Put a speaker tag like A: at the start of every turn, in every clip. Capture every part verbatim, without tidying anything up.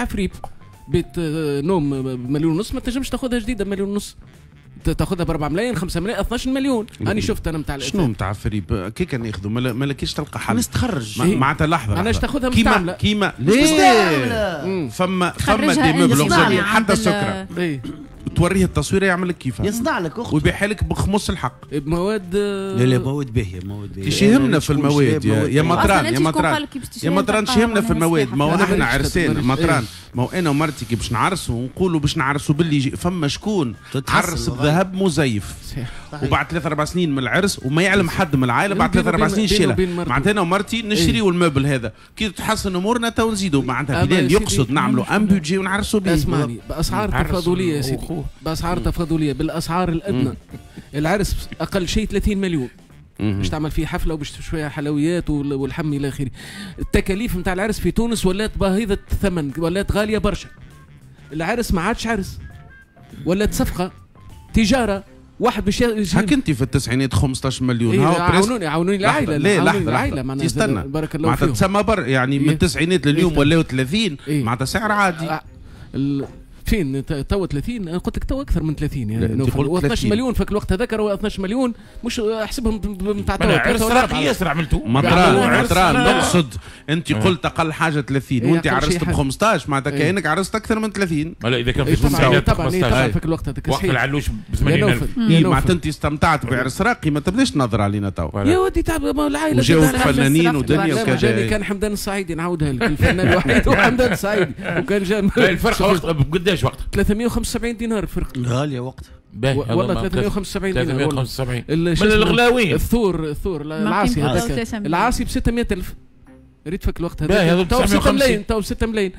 A: فريب بيت نوم مليون ونص ما تنجمش تاخذها جديدة مليون ونص، تاخذها ب أربعة ملايين خمسة ملايين اثناش مليون. انا شفت انا نتاع
B: شنو نتاع فريب كي كان ياخذوا ما لكيش تلقى حل
C: الناس تخرج
B: معناتها لحظة
A: علاش تاخذها مستعملة
B: كيما كيما ليه فما فما des meubles حتى السكرة توريه التصويره يعمل لك كيفها
C: يصنع لك اخت
B: ويبيعها لك بخمس الحق
A: بمواد.
C: لا لا مواد باهيه مواد باهيه
B: ايش يهمنا في المواد يا, يا مطران يا مطران يا مطران ايش يهمنا في المواد؟ ما هو نحن عرسان مطران، ما هو انا ومرتي كي باش نعرسوا ونقولوا باش نعرسوا باللي فما شكون عرس بذهب مزيف وبعد ثلاث اربع سنين من العرس وما يعلم حد من العائلة بعد ثلاث اربع سنين شيلها. معناتها انا ومرتي نشريوا ال meuble هذا كي تحسن امورنا تو نزيدوا. معناتها بلال يقصد نعملوا un budget ونعرسوا به.
A: اسمعني باسعار تفاضليه يا سيدي، باسعار تفاضليه بالاسعار الادنى. العرس اقل شيء ثلاثين مليون باش تعمل فيه حفلة وباش شوية حلويات والحم الى اخره. التكاليف نتاع العرس في تونس ولات باهظه الثمن، ولات غالية برشا. العرس ما عادش عرس، ولات صفقة تجارة. واحد باش
B: هاك انت في التسعينات خمسطاش مليون.
A: إيه عاونوني عاونوني العائلة.
B: لا لحظة لحظة استنى
A: بارك الله فيهم.
B: معناتها تسمى بر يعني من التسعينات لليوم ولاو ثلاثين.
A: إيه؟
B: معناتها سعر عادي.
A: آه فين تو ثلاثين؟ انا قلت لك تو اكثر من ثلاثين يعني اثناش مليون في الوقت هذاك هو اثناش مليون مش احسبهم نتاع تو.
D: عرس راقي ياسر عملته
B: مطران مطران نقصد انت قلت اقل حاجة ثلاثين وانت عرست ب خمسطاش معناتها كانك عرست اكثر من ثلاثين.
D: لا اذا كان في التسعينات
A: طبعا في الوقت هذاك
D: وقت العلوش ب ثمانين ألف.
B: معناتها انت استمتعت بعرس راقي ما تبداش تنظر علينا تو
A: يا ودي تعب العائلة
B: وجاوك فنانين ودنيا وكذا.
A: كان حمدان الصعيدي نعاودها لك الفنان الوحيد هو حمدان الصعيدي وكان جا
D: الفرق قداش وقت
A: ثلاثمية وخمسة وسبعين دينار الفرق
C: غالية وقت
A: والله ثلاثمية وخمسة وسبعين دينار
D: ثلاثمية وخمسة وسبعين من الغلاوين.
A: الثور الثور العاصي هذاك العاصي ب ستمية ألف ريت فك الوقت هذاك تو ستة ملايين تو ستة ملايين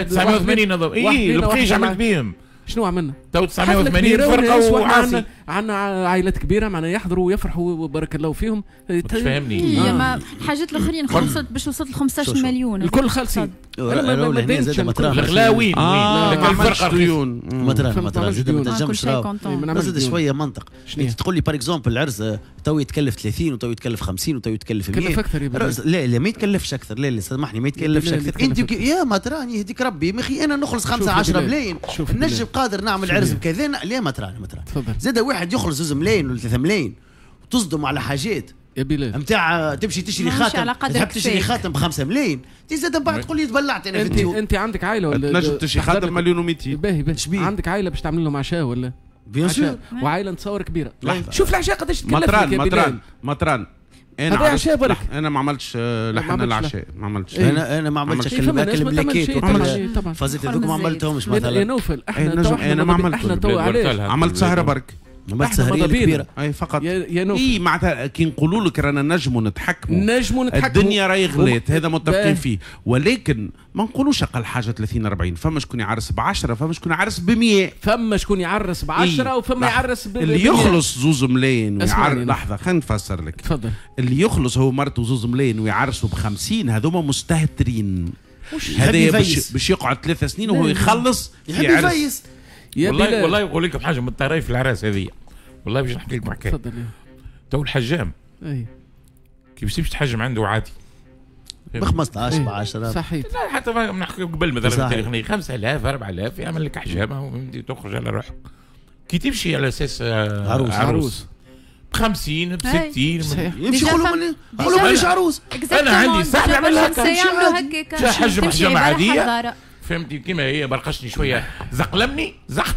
D: تسعمية وثمانين هذا اي البقيش عملت بيهم
A: شنو عملنا؟
D: تو تسعمية وثمانين فرقه وعاصي.
A: عندنا عائلات كبيرة معنا يحضروا ويفرحوا وبارك الله فيهم.
D: مش فاهمني.
E: هي ما الحاجات الاخرين خلصت باش وصلت ل خمسطاش مليون
A: الكل خالصين.
D: الغلاوين
B: وين الفرقة ديون
C: مطران مطران زاد ما تنجمش زاد شوية منطق. تقول لي par exemple العرس تو يتكلف ثلاثين وتو يتكلف خمسين وتو يتكلف مية.
A: يتكلف اكثر.
C: لا لا ما يتكلفش اكثر. لا لا سامحني ما يتكلفش اكثر. انت يا مطران يهديك ربي مخي انا نخلص خمسة عشرة ملايين نجم قادر نعمل عرس بكذا. لا مطران مطران زاد واحد يخلص زوز ملايين ولا ثلاثة ملايين وتصدم على حاجات
A: يا بلال
C: نتاع تمشي تشري خاتم تحب تشري خاتم بخمسة ملايين تزيد من بعد تقول لي تبلعت انا في الديون.
A: انت عندك عائلة ولا
B: تنجم تشري خاتم مليون ومئتين.
A: باهي باهي عندك عائلة باش تعمل لهم عشاء ولا
C: bien sûr
A: وعائلة نتصور كبيرة. شوف العشاء قداش تكلف.
B: مطران مطران مطران انا
A: عشاء برك
B: انا ما عملتش لحن العشاء ما عملتش.
C: انا انا ما عملتش البلاكيت فازت هذوك ما عملتهمش مثلا.
A: يا نوفل احنا
B: انا ما عملتش.
A: احنا تو علاش
B: عملت سهره برك
C: عملت سهريه كبيرة
B: اي فقط
A: يا نوفل.
B: اي معناتها كي نقولوا لك رانا نجموا نتحكموا
A: نجموا نتحكموا
B: الدنيا راهي غلات هذا متفقين فيه، ولكن ما نقولوش اقل حاجة ثلاثين أربعين. فما شكون يعرس ب عشرة فما شكون يعرس ب مية
A: فما شكون يعرس ب عشرة إيه؟ وفما يعرس ب
B: اللي يخلص زوز ملايين ويعرس. لحظة خلينا نفسر لك.
A: تفضل.
B: اللي يخلص هو مرته زوز ملايين ويعرسوا ب خمسين هذوما مستهترين. هذا باش باش يقعد ثلاث سنين وهو يخلص
C: يحب يفيس.
D: والله والله نقول لكم حاجة من الطرايف العراس هذه والله باش نحكي لكم حكاية.
A: تفضل.
D: تو الحجام
A: اي
D: كي باش تمشي تحجم عنده عادي
C: ب خمسطاش ب عشرة
A: صحيح.
D: لا حتى نحكي قبل مثلا التاريخ خمسة آلاف أربعة آلاف يعمل لك حجامة وتخرج على روحك. كي تمشي على اساس
C: عروس
D: عروس ب خمسين ب ستين
C: يمشي يقولوا يقولوا مانيش عروس.
D: انا عندي صاحبي عمل هكا
E: يعملوا هكاك
D: حجم حجامة عادية فهمتي كيما هي برقشني شوية زقلمني زق.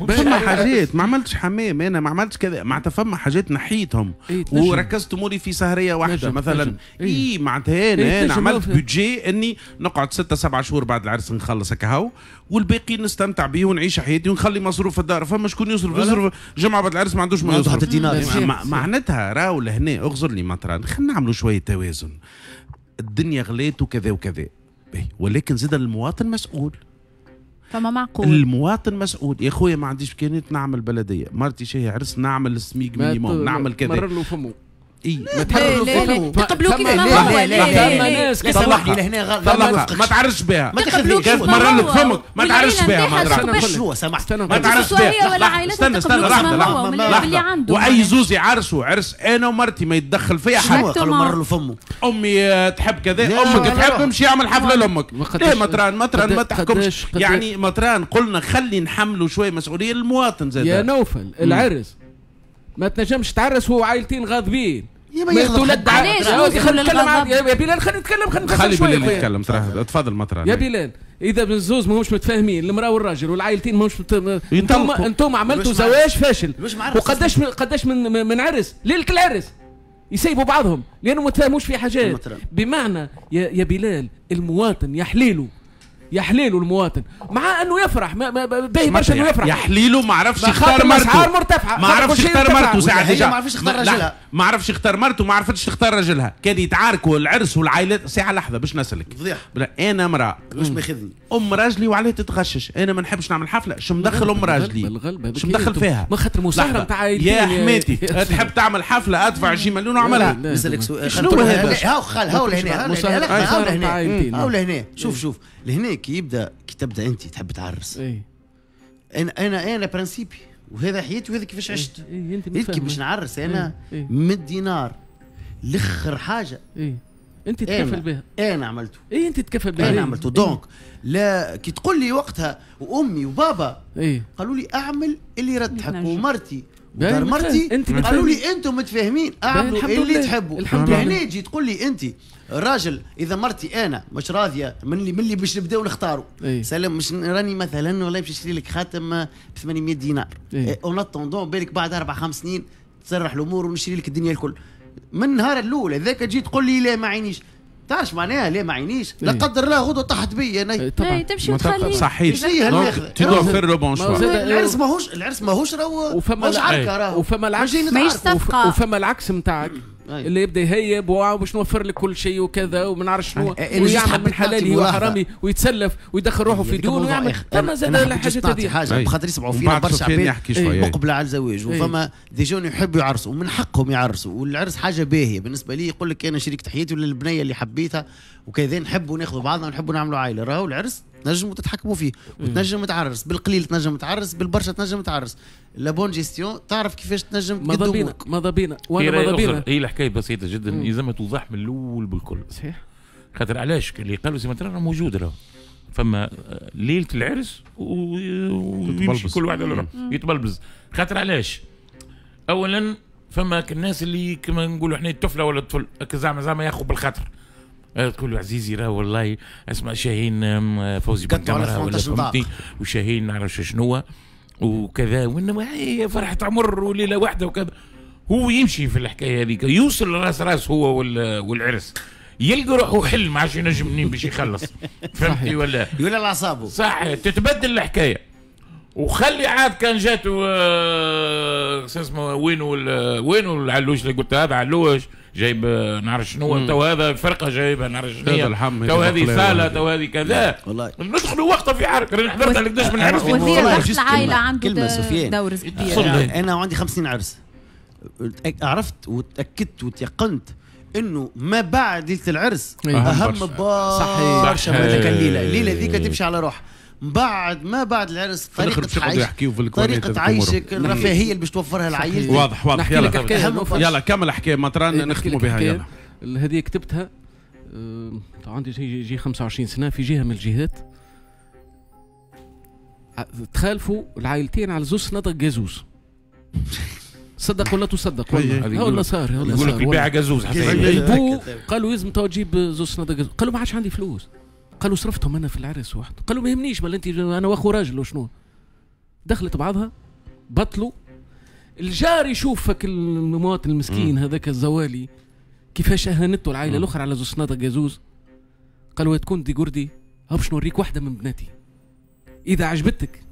B: فما حاجات ما عملتش حمام انا ما عملتش كذا معناتها فما حاجات نحيتهم
A: إيه
B: وركزت اموري في سهريه واحدة مثلا. اي معناتها انا انا عملت budget اني نقعد ستة سبعة شهور بعد العرس نخلص هكا هاو والباقي نستمتع به ونعيش حياتي ونخلي مصروف الدار. فما شكون يصرف يصرف جمعه بعد العرس ما عندوش ما يصرف. معناتها راهو لهنا اغزر لي مطران خلينا نعملوا شوية توازن. الدنيا غليت وكذا وكذا ولكن زاد المواطن مسؤول.
E: فما معقول
B: المواطن مسؤول يا خويا ما عنديش امكانيات نعمل بلديه مرتي شاهي عرس نعمل SMIG minimum نعمل كذا
A: مرر له فمه.
B: اي
A: ما تحبوا
E: تقبلوا كيف ما هو.
C: لا لا لا سامحني لهنا
B: غلط، ما تعرفش بها،
C: ما تاخذش
B: مرة لك فمك ما تعرفش بها، ما
C: شنو سامحت
B: ما تعرفش بها.
E: ولا عائلتها
B: استنى استنى لحظة لحظة، واي زوز يعرسوا عرس انا ومرتي ما يتدخل فيها حد.
C: قالوا مرة له فمه،
B: امي تحب كذا، امك تحب امشي اعمل حفلة لامك. ليه مطران مطران ما تحكمش يعني مطران؟ قلنا خلي نحملوا شوية مسؤولية للمواطن زاد.
A: يا نوفل العرس ما تنجمش تعرس وهو عائلتين غاضبين.
C: ما
A: تولد علاش؟ خلينا نتكلم يا بلال، خلينا نتكلم، خلينا
B: خلي بلال يتكلم. تفضل مطران.
A: يا بلال اذا بالزوز ماهمش متفاهمين، المراة والراجل والعائلتين ماهمش مت... انتم انتم عملتوا زواج فاشل. وقداش من قداش من من عرس ليلة العرس يسيبوا بعضهم لانه ما تفاهموش في حاجات. بمعنى يا يا بلال المواطن يا حليله، يا حليله المواطن، مع انه يفرح باهي برشا انه يفرح،
B: يا حليله ما عرفش يختار مرته،
A: مرتفعة
B: ما عرفش يختار مرته ساعة،
C: ما عرفش يختار راجلها،
B: ما عرفش يختار مرته، ما عرفتش تختار راجلها، كان يتعاركوا العرس والعائلات. ساعة لحظة باش نسالك، انا امراة
C: مش ماخذني
B: ام راجلي وعليه تتغشش، انا ما نحبش نعمل حفلة، شو مدخل ام راجلي؟ شو مدخل فيها؟
A: ما خاطر مساهره نتاع عائلتين
B: يا حماتي. تحب تعمل حفلة ادفع عشرين مليون واعملها.
C: نسالك سؤال، شنو هذا؟ هاو خال هاو لهنا، هاو لهنا، هاو لهنا، شوف شوف لهنا كي يبدا كي تبدا انت تحب تعرس.
A: إيه؟
C: انا انا انا principe وهذا حياتي وهذا كيفاش عشت.
A: إيه؟ إيه؟
C: كي باش نعرس انا
A: إيه؟
C: من دينار لاخر حاجة
A: إيه؟ انت تكفل بها.
C: انا عملته.
A: اي انت تكفل بها.
C: انا عملته. donc لا كي تقول لي وقتها وامي وبابا
A: إيه؟
C: قالوا لي اعمل اللي يرتحك، ومرتي ودار مرتي قالوا لي انتم متفاهمين اعملوا اللي تحبوا. هنا تجي تقول لي انت الراجل اذا مرتي انا مش راضية من اللي من اللي باش نبداو نختاروا.
A: إيه؟
C: سلام مش راني مثلا والله باش نشري لك خاتم ب ثمانمية دينار. en attendant بالك بعد اربع خمس سنين تسرح الامور ونشري لك الدنيا الكل. من النهار الاول هذاك تجي تقول لي لا ما عينيش، تعرف معناها ليه ما عينيش؟ لا قدر الله غدوه طاحت بيا انا.
A: طبعا
E: تمشي وتخلي
B: صحيح. tu dois faire le bon choix.
C: العرس ماهوش العرس ماهوش راهو ماهوش عركة راهو،
A: وفما العكس وفما العكس نتاعك اللي يبدا يهيب وباش نوفر لك كل شيء وكذا وما نعرف شنو، ويعمل من حلاله وحرامه ويتسلف ويدخل روحه في ديون ويعمل. فما زاد الحاجات هذه
C: حاجة بخاطر يسمعوا فينا برشا عباد مقبله على الزواج، وفما des jeunes يحبوا يعرسوا ومن حقهم يعرسوا، والعرس حاجة باهيه بالنسبة لي. يقول لك انا شريكة حياتي ولا البنية اللي حبيتها وكذا، نحبوا ناخذوا بعضنا ونحبوا نعملوا عائلة. راهو العرس تنجموا تتحكموا فيه وتنجم تعرس بالقليل، تنجم تعرس بالبرشا، تنجم تعرس la bonne gestion، تعرف كيفاش تنجم
A: ماذا بينا ماذا بينا وانا ماذا بينا.
D: هي الحكاية بسيطة جدا، لازم توضح من الاول بالكل.
A: صحيح.
D: خاطر علاش اللي قالوا سي مثلا موجود راهو فما ليلة العرس ويمشي كل واحد على روحه يتبلبز. خاطر علاش؟ اولا فما الناس اللي كما نقولوا احنا الطفلة ولا الطفل زعما زعما ياخذ بالخاطر، تقول له عزيزي راه والله اسمع شاهين فوزي بن كاميرا ولا فهمتني، وشاهين نعرف شنو وكذا، وانما هي فرحه عمر وليلة واحدة وكذا. هو يمشي في الحكاية هذيك، يوصل راس راس هو والعرس، يلقى روحه حل ما عادش ينجم منين باش يخلص. فهمتني ولا؟
C: يولي على اعصابه.
D: صح، تتبدل الحكاية. وخلي عاد كان جاتو آه اسمه وينو وينو العلوش اللي قلت هذا علوش جايب نعرف شنو، تو هذا فرقه جايبها نعرف شنو، تو هذه صاله، تو هذه كذا.
C: والله
D: ندخلوا وقتها في عرك. راني حضرت على قداش من عرس.
E: والله العائلة عنده دور كبير.
C: انا وعندي خمسين عرس، عرفت وتاكدت وتيقنت انه ما بعد ليلة العرس اهم برشا من هذيك الليلة. الليلة ذيك تمشي على روحها. بعد ما بعد العرس طريقة عيش، طريقة عيشك، الرفاهية اللي باش توفرها لعائلتك.
B: واضح واضح. يلا يلا كمل حكاية مطران نختموا بها. يلا
A: هذه كتبتها أه عندي جي, جي خمسة وعشرين سنة في جهة من الجهات. تخالفوا العائلتين على زوز صنادق جازوز. صدق ولا تصدق؟ والله والله صار، والله
D: يقول لك البيع جازوز.
A: البو قالوا لازم تو تجيب زوز صنادق جازوز. قالوا ما عادش عندي فلوس. قالوا صرفتهم انا في العرس واحد. قالوا ما يهمنيش، بل انت انا واخو راجل وشنو. دخلت بعضها بطلوا. الجار يشوفك المواطن المسكين هذاك الزوالي كيفاش اهانته العائلة الاخرى على زوز صنادق جازوز. قالوا تكون دي قردي باش نوريك واحدة من بناتي، اذا عجبتك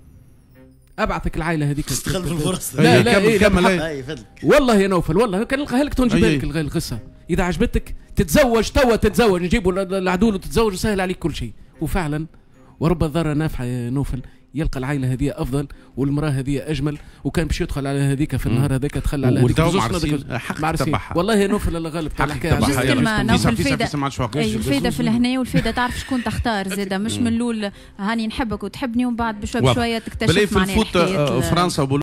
A: ابعثك العائلة هذيك.
C: تستغل في الفرصة.
A: لا لا
B: كمل كمل.
A: والله يا نوفل والله كان نلقاها لك تنجيبها لك القصة. اذا عجبتك تتزوج توا، تتزوج نجيبوا العدول وتتزوج وسهل عليك كل شيء. وفعلا ورب الذرة نافعة يا نوفل، يلقى العائلة هذه افضل والمراة هذه اجمل، وكان باش يدخل على هذيك في النهار هذاك دخل على هذيك.
B: حق
A: والله يا نوفل الله غالب
E: تاع الحكاية. الفايدة الفايدة في الهنا والفايده تعرف شكون تختار زاده، مش من الاول هاني نحبك وتحبني ومن بعد بشوية بشوية تكتشف
B: معناها. فرنسا.